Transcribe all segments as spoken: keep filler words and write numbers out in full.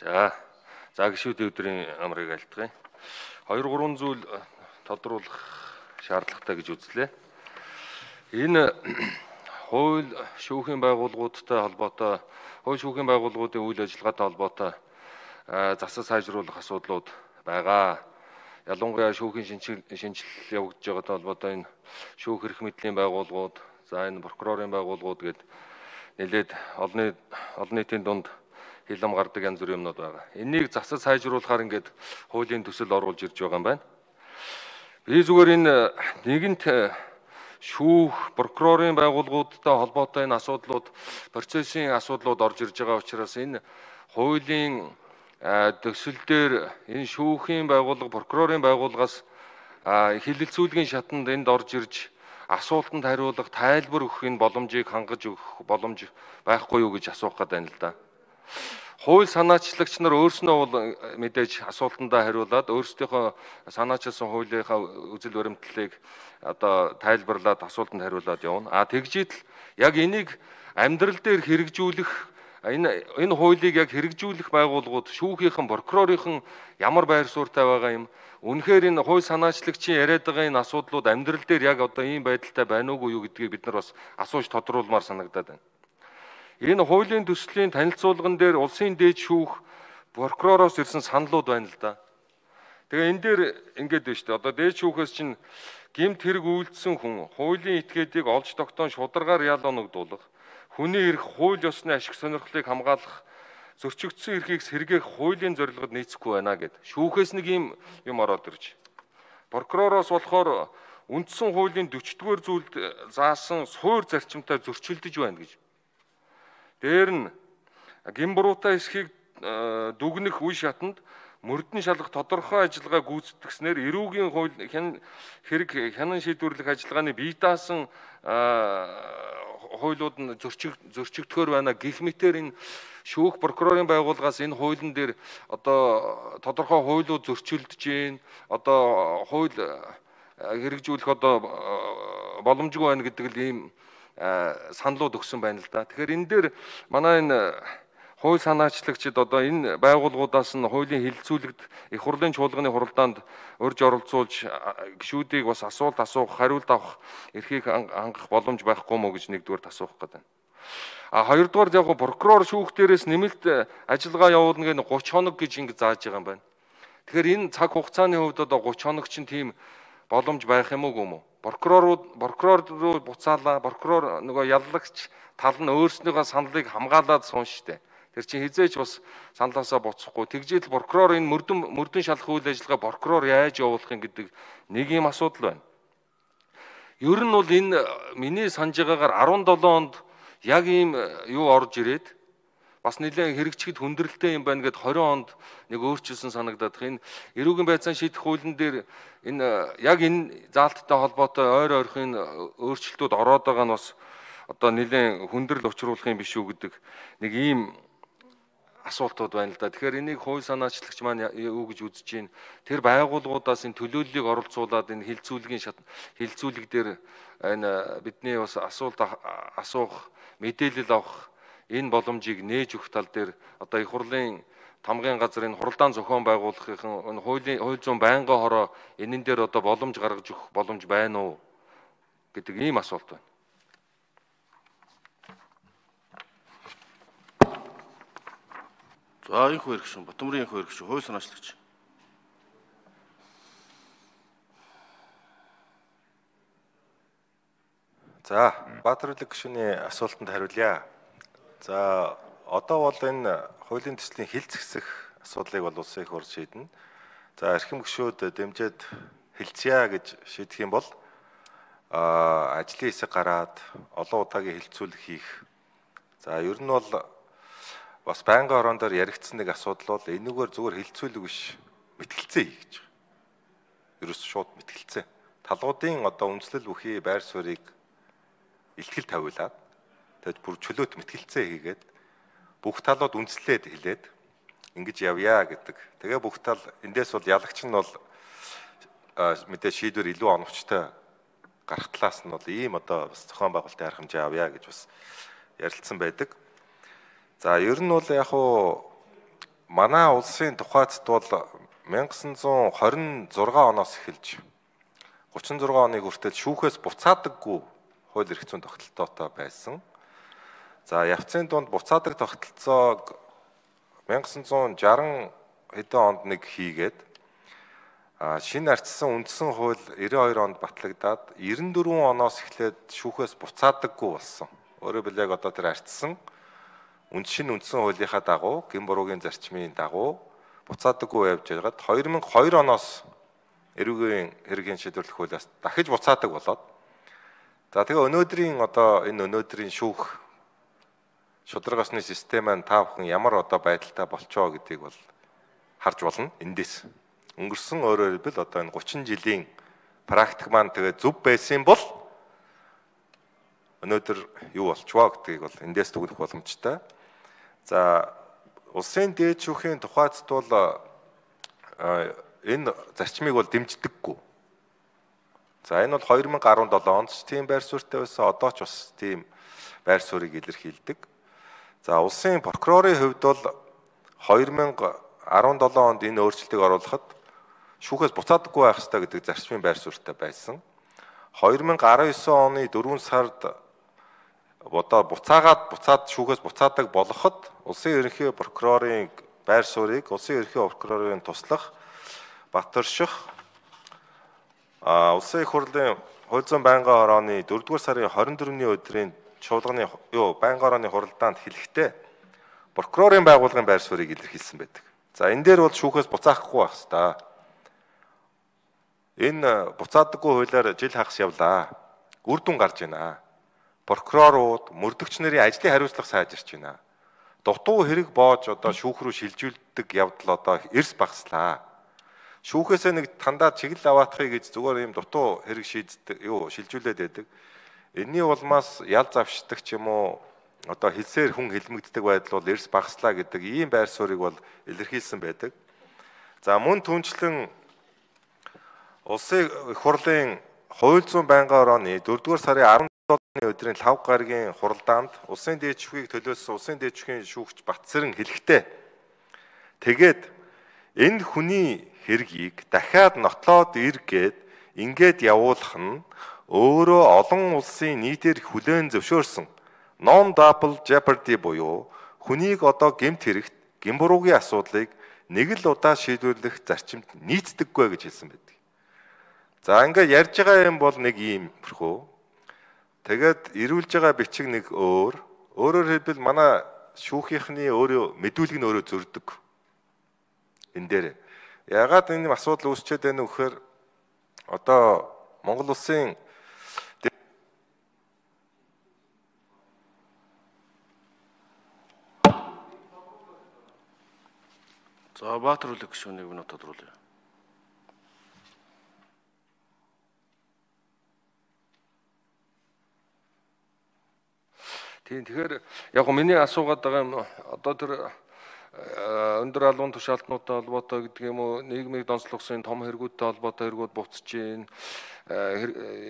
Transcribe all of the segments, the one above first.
За, за гişүүдийн өдрийн амрыг альтгая. хоёр гурван зүйл тодруулах шаардлагатай гэж үзлээ. Энэ хууль шүүхийн байгууллагуудтай холбоотой, хууль шүүхийн байгууллагуудын үйл ажиллагаатай холбоотой засаг сайжруулах асуудлууд байгаа. Ялангуяа шүүхийн шинжилэл явагдаж байгаатай холбоотой энэ шүүх эрх мэдлийн байгууллагууд, за энэ прокурорын байгууллагууд гээд нэлээд олон олон нийтийн дунд хилам гардаг янз бүрийн юмнууд байгаа. Энийг засаг сайжруулахаар ингээд хуулийн төсөл оруулж ирж байгаа юм байна. Би зүгээр энэ нэгэнт шүүх, прокурорын байгууллагуудтай холбоотой энэ асуудлууд, процессын асуудлууд орж ирж байгаа учраас энэ хуулийн төсөл дээр энэ шүүхийн байгууллага, прокурорын байгууллагаас хилэлцүүлгийн шатанд энд орж ирж асуултанд хариулах, тайлбар өгөх энэ боломжийг хангаж өгөх боломж байхгүй юу гэж асуух гэдэг байна л да. Хууль санаачлагч нар өөрснөө бол мэдээж асуултандаа хариулаад өөрсдийнхөө санаачилсан хуулийнхаа үзэл баримтлалыг одоо тайлбарлаад асуултанд хариулаад явна. А тэгжийдл яг энийг амьдрал дээр хэрэгжүүлэх энэ энэ хуулийг яг хэрэгжүүлэх байгууллагууд шүүхийнхэн, прокурорынхэн ямар байр суурьтай байгаа юм? Үнэхээр энэ хууль санаачлагчийн яриад байгаа энэ асуудлууд амьдрал дээр яг одоо ийм байдалтай байна уугүй юу гэдгийг бид нар бас асууж тодруулмаар санагдаад байна. Энэ хуулийн төслийн танилцуулган дээр улсын дээд шүүх прокуророос ирсэн саналууд байна л да. Тэгээ энэ дээр ингэж байна шүү дээ. Одоо дээд шүүхээс чинь гэмт хэрэг үйлдсэн хүн хуулийн этгээдийг олж тогтоон шударгаар ял оногдуулах, хүний эрх, хууль ёсны ашиг сонирхлыг хамгаалах, зөрчигдсөн эрхийг сэргээх хуулийн зорилгод нийцэхгүй байна гэд. Шүүхээс нэг юм юм ороод ирж. Прокуророос болохоор үндсэн хуулийн дөрөвдүгээр зүйлд заасан суур зарчимтай зөрчилдөж байна гэж. Дээр нь гимбуруутай эсхийг дүгнэх үе шатанд мөрдөн шалгах тодорхой ажиллагаа гүйцэтгснээр эрүүгийн хууль хэрэг хянан шийдвэрлэх ажиллагааны бие даасан хуулиуд нь зөрчиг зөрчигдөхөр байна гэх мэтээр энэ шүүх прокурорын байгууллагаас энэ хуулийн дээр одоо тодорхой хуулиуд зөрчилдөж гин одоо хууль хэрэгжүүлэх одоо боломжгүй байна гэдэг л ийм саналууд өгсөн байна л да. Тэгэхээр энэ дээр манай энэ хууль санаачлагчид одоо энэ байгууллагуудаас нь хуулийн хилцүүлэгт их хурлын чуулганы хуралдаанд урьж оролцуулж гишүүдийг бас асуулт асуух, хариулт авах эрхийг хангах боломж байхгүй мó гэж нэгдүгээр асуух гэдэг. А хоёрдугаар яг прокурор шүүх дээрээс нэмэлт ажиллагаа явуулна гэх гурван хоног гэж ингэ зааж байгаа юм байна. Тэгэхээр энэ цаг хугацааны хувьд одоо гурван хоног чинь тийм боломж байх юм уу юм уу? Прокурорууд прокурор руу буцаалаа, прокурор нөгөө яллагч тал нь өөрснийхөө саналыг хамгаалаад суун штэ. Тэр чинь хизээч бас саналаасаа буцахгүй. Тэгжээд прокурор энэ мөрдөн мөрдөн шалах үйл ажиллагаа прокурор яаж явуулах юм гэдэг нэг юм асуудал байна. Ер нь бол энэ миний санаж байгаагаар арван долоо онд яг ийм юу орж ирээд бас нэлээд хэрэгжихэд хүндрэлтэй юм байна гэд хорин онд нэг өөрчилсөн санагдаад байна. Энэ эрүүгийн байцаан шийдэх хуулийн дээр энэ яг энэ заалттай холбоотой ойр ойрхон өөрчлөлтүүд ороод байгаа нь бас одоо нэлээд хүндрэл учруулах юм биш үү гэдэг нэг ийм асуултууд байна л да. Тэгэхээр энийг хууль санаачлагч маань юу гэж үзэж байна? Тэр байгууллагуудаас энэ төлөөллийг оролцуулаад энэ хилцүүлгийн шат хилцүүлэг дээр энэ бидний бас асуулт асуух, мэдээлэл авах энэ боломжийг нээж өгөх тал дээр одоо их хурлын тамгын газрын хуралдаан зохион байгуулахын энэ хуулийн хууль зүйн байнгын хороо энэн дээр одоо боломж гаргаж өгөх боломж байна уу гэдэг ийм асуулт байна. За их хэрэгшин, Батмөрийн их хэрэгшин, хууль санаачлагч. За, Баатар үлэг гишүүний асуултанд хариулъя. За, одоо бол энэ хуулийн төслийн хилцэх асуудлыг бол улсын их хурл шийднэ. За, эрхэм гишүүд дэмжиж хилцъя гэж шийдэх юм бол а ажлын хэсэг гараад олон удаагийн хилцүүлэг хийх. За, ер нь бол бас байнгын орон дээр яригдсан нэг асуудал бол энэгээр зүгээр хилцүүлэг биш, мэтгэлцээ хий гэж байгаа. Ерөөс шууд мэтгэлцээ. Талуудын одоо үндэслэл бүхий байр суурийг илтгэл тавиулаад тэгээд бүр чөлөөт мэтгэлцээ хийгээд бүх талууд үндэслээд хэлээд ингэж явъя гэдэг. Тэгээ бүх тал эндээс бол ялагч нь бол мэдээ шийдвэр илүү оновчтой гарах талаас нь бол ийм одоо бас зохион байгуулалтын арга хэмжээ авъя гэж бас ярилцсан байдаг. За ер нь бол яг хуу манай улсын тухайд бол мянга девятьсот двадцать шесть оноос эхэлж гучин зургаан оныг хүртэл шүүхээс буцаадаггүй хууль эрх зүйн тогтолцоотой байсан. За явцын дунд буцаадаг тогтолцоог мянга девятьсот шаран хэдэн онд нэг хийгээд шинэ ардчсан үндсэн хууль девяносто хоёр онд батлагдаад девяносто дөрвөн оноос эхлээд шүүхээс буцаадаггүй болсон. Өөрөөр хэлбэл яг одоо тэр ардчсан үнд шинэ үндсэн хуулийнхаа дагуу гин буруугийн зарчмын дагуу буцаадаггүй явж байгаад две тысячи two оноос эрүүгийн хэргийн шийдвэрлэх хуулиас дахиж буцаадаг болоод за тэгээ өнөөдрийн одоо энэ өнөөдрийн шүүх шударгаасны систем маань та бүхэн ямар одоо байдалтай болчоо гэдгийг бол харж болно эндээс. Өнгөрсөн өөрөөр хэлбэл одоо энэ гучин жилийн практик маань тэгээ зөв байсан бол өнөөдөр юу болчихвоо гэдгийг бол эндээс дүгнэх боломжтой. За улсын дээд шүүхийн тухайд бол энэ зарчмыг бол дэмждэггүй. За энэ бол две тысячи seven онд ч тийм байр суурьтай байсан, одоо ч бас тийм байр суурийг илэрхийлдэг. За улсын прокурорын хувьд бол две тысячи seventeen онд энэ өөрчлөлтийг оруулахад шүүхээс буцаадаггүй байх ёстой гэдэг зарчмын байр суурьтай байсан. две тысячи nineteen оны дөрвөн сард одоо буцаагаад буцаад шүүхээс буцаадаг болоход улсын ерөнхий прокурорын байр суурийг улсын ерөнхий прокурорын туслах Батөрших а улсын их хурлын хууль зүйн байнгын хорооны дөрөвдүгээр сарын двадцать четвёртний өдрийн чуулганы юу байнгын хорооны хуралдаанд хэлэхдээ прокурорын байгууллагын байр суурийг илэрхийлсэн байдаг. За энэ дээр бол шүүхээс буцаахгүй байх ёстой. Энэ буцаадаггүй хуулиар жил хагас явлаа. Үр дүн гарч байна. Прокурорууд, мөрдөгч нарын ажлын хариуцлага сайжирч байна. Дутуу хэрэг боож одоо шүүх рүү шилжүүлдэг явдал одоо эрс багслаа. Шүүхээсээ нэг тандаа чиглэл аваатахыг гэж зүгээр юм дутуу хэрэг шийддэг, юу шилжүүлээд байдаг. Энийний улмаас ял завшдаг ч юм уу одоо хэлсээр хүн хэлмэгддэг байдал бол эрс багслаа гэдэг ийм байр суурийг бол илэрхийлсэн байдаг. За мөн түнчлэн улсын их хурлын хууль зүйн байнгын хорооны дөрөвдүгээр сарын дөрөвдүгээр өдрийн лав гарагийн хуралдаанд улсын дээд шүүхийг төлөөсөн улсын дээд шүүхийн шүүгч Батсэрэн хэлэхдээ тэгээд энэ хүний хэргийг дахиад нотлоод иргээд ингээд явуулах нь өөрөө олон улсын нийтээр хүлээн зөвшөөрсөн non double jeopardy буюу хүнийг одоо гэмт хэрэгт гэмбуруугийн асуудлыг нэг л удаа шийдвэрлэх зарчимд нийцдэггүй гэж хэлсэн байдаг. За ингээд ярьж байгаа юм бол нэг юм хэрхүү. Тэгээд ирүүлж байгаа бичиг нэг өөр. Өөрөөр хэлбэл манай шүүхийнхний өөрөө мэдүүлэг нь өөрөө зөрдөг. Энэ дээр ягаад энэ асуудал үүсчээд байна вэ гэхээр одоо Монгол улсын За Баатар үлэг гишүүнийг минут тодруулъя. Тийм тэгэхээр яг го миний асуугаад байгаа юм одоо тэр өндөр албан тушаалтнуудтай холбоотой гэдэг юм уу нийгмийг донслогсон том хэрэгүүдтэй холбоотой хэрэгүүд буцаж гин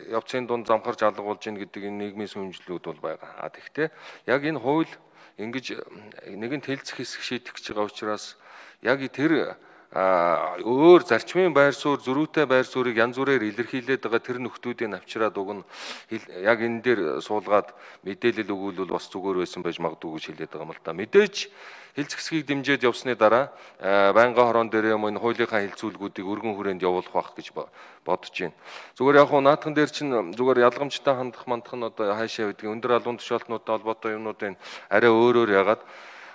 явцын дунд замхарж алгуулж гин гэдэг энэ нийгмийн сүмжлүүд бол байгаа. А тэгтээ яг энэ хууль ингэж нэгэнт хэлцэх хэсэг шийдэх гэж байгаа учраас яг тэр өөр зарчмын байр суурь зөрүүтэй байр суурийг янз бүрээр илэрхийлээд байгаа тэр нөхдүүдийн авчираад уг нь яг энэ дээр суулгаад мэдээлэл өгүүлвэл бас зүгээр байсан байж магадгүй гэж хэлээд байгаа юм л да. Мэдээж хэлц хэсгийг дэмжиж явсны дараа байнгын хорон дээр юм энэ хуулийнхаа хэлцүүлгүүдийг өргөн хүрээнд явуулах байх гэж бодож байна. Зүгээр яг хуу наадхан дээр чинь зүгээр ялгамжтай хандах мандах нь одоо хаашаа байдгийг өндөр албан тушаалтнуудтай холбоотой юмнуудын арай өөрөөр ягаад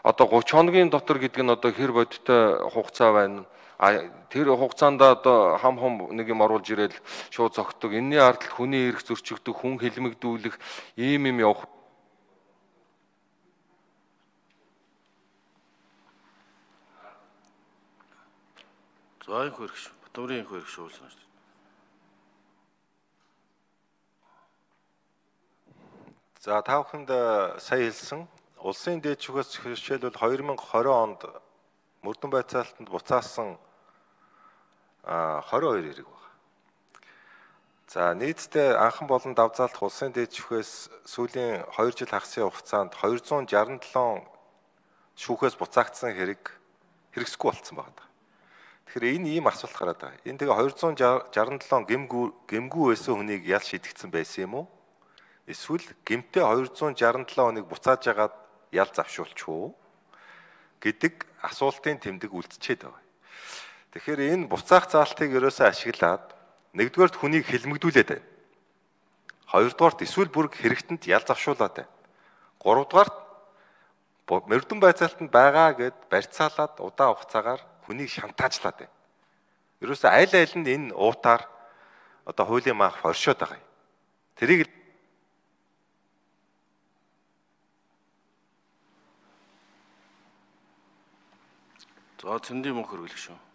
одоо тридцать хоногийн дотор гэдэг нь одоо хэр бодиттой хугацаа байна. А тэр хугацаанд одоо хам хам нэг юм оруулж ирээл шууд зогтдог. Энийний ардл хүний эрх зөрчигдөх, хүн хэлмэгдүүлэх ийм юм явах. За энэ хөрөх шүү. Батмарын энэ хөрөх шүү санаж. За та бүхэнд сая хэлсэн улсын дээд шүүхээс хичээлбэл две тысячи twenty онд мөрдөн байцаалтанд буцаасан twenty-two хэрэг байна. За нийтдээ анхан болон давзаалт улсын дээд шүүхээс сүүлийн two жил хагасын хугацаанд two hundred sixty-seven шүүхээс буцаагдсан хэрэг хэрэгсэхгүй болцсон байгаа. Тэгэхээр энэ ийм асуулт гараад байгаа. Энэ тэгээ двести шестьдесят seven гэмгүү гэмгүү байсан хүнийг ял шидэгдсэн байсан юм уу? Эсвэл гэмтээ двести шестьдесят seven хүнийг буцааж агаад ял завшуулчих уу гэдэг асуултын тэмдэг үлдчихэд байгаа. Тэгэхээр энэ буцаах заалтыг ерөөсөө ашиглаад нэгдүгээрт хүнийг хэлмэгдүүлээд байна. Хоёрдугаарт эсвэл бүр хэрэгтэнд ял завшуулаад байна. Гуравдугаарт мөрдөн байцаалтанд байгаа гэд барьцаалаад удаан хугацаагаар хүнийг шантаажлаад байна. Ерөөсөө аль аль нь энэ уутаар одоо хуулийн маах оршоод байгаа юм. Тэрийг За цэндийн мөнх хөргөлөх шүү.